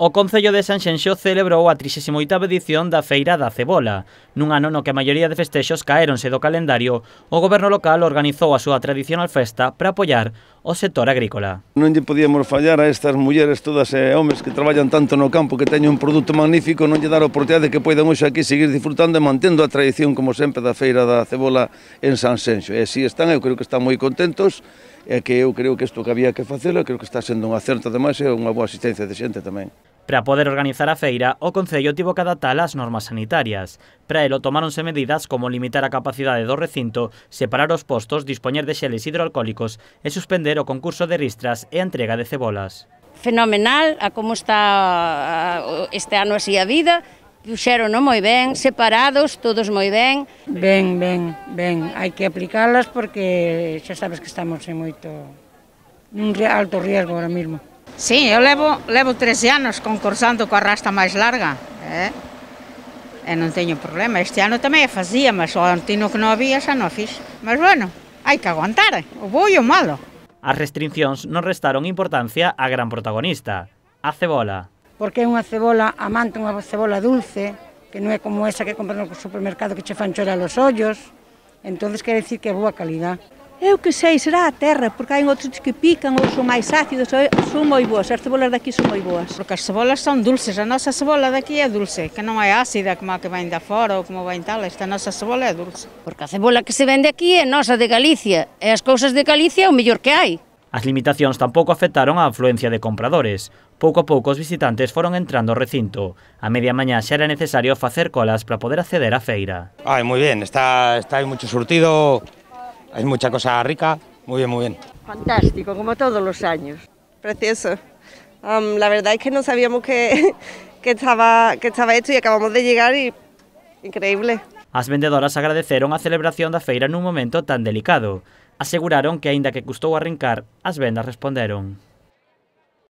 O Concello de Sanxenxo celebrou a 38ª edición da Feira da Cebola. Nun ano no que a maioría de festexos caéronse do calendario, o goberno local organizou a súa tradicional festa para apoiar o sector agrícola. Non lle podíamos fallar a estas mulleres todas e homes que traballan tanto no campo, que teñen un produto magnífico, non lle dar a oportunidade que poidan hoxe aquí seguir disfrutando e mantendo a tradición, como sempre, da Feira da Cebola en Sanxenxo. E así están, eu creo que están moi contentos, e que eu creo que isto que había que facelo, creo que está sendo un acerto ademais e unha boa asistencia de xente tamén. Para poder organizar a feira, o Concello tivo que adaptar as normas sanitarias. Para elo tomáronse medidas como limitar a capacidade do recinto, separar os postos, dispoñer de xeles hidroalcohólicos e suspender o concurso de ristras e a entrega de cebolas. Fenomenal a como está este ano así a vida, puxérono moi ben, separados, todos moi ben. Ben, hai que aplicalas porque xa sabes que estamos en un alto riesgo ahora mismo. Sí, eu levo 13 anos concursando coa rasta máis larga, e non teño problema. Este ano tamén a facía, mas o antino que non había xa non fiz. Mas bueno, hai que aguantar, o bo e o malo. As restriccións non restaron importancia á gran protagonista, a cebola. Porque é unha cebola, amante unha cebola dulce, que non é como esa que compras no supermercado que che fan chorar os ollos, entonces quere dicir que é boa calidad. Eu que sei, será a terra, porque hai outros que pican ou son máis ácidos, son moi boas, as cebolas daqui son moi boas. Porque as cebolas son dulces, a nosa cebola daqui é dulce, que non é ácida como a que vem da fora ou como vem tal, esta nosa cebola é dulce. Porque a cebola que se vende aquí é nosa de Galicia, e as cousas de Galicia é o mellor que hai. As limitacións tampouco afectaron a afluencia de compradores. Pouco a pouco os visitantes foron entrando ao recinto. A media mañá xa era necesario facer colas para poder acceder á feira. Muy bien, está aí mucho surtido. Hay mucha cosa rica, muy bien. Fantástico, como todos los años. Precioso. La verdad es que no sabíamos que estaba hecho y acabamos de llegar y increíble. As vendedoras agradeceron a celebración da feira nun momento tan delicado. Aseguraron que, aínda que custou arrincar, as vendas responderon.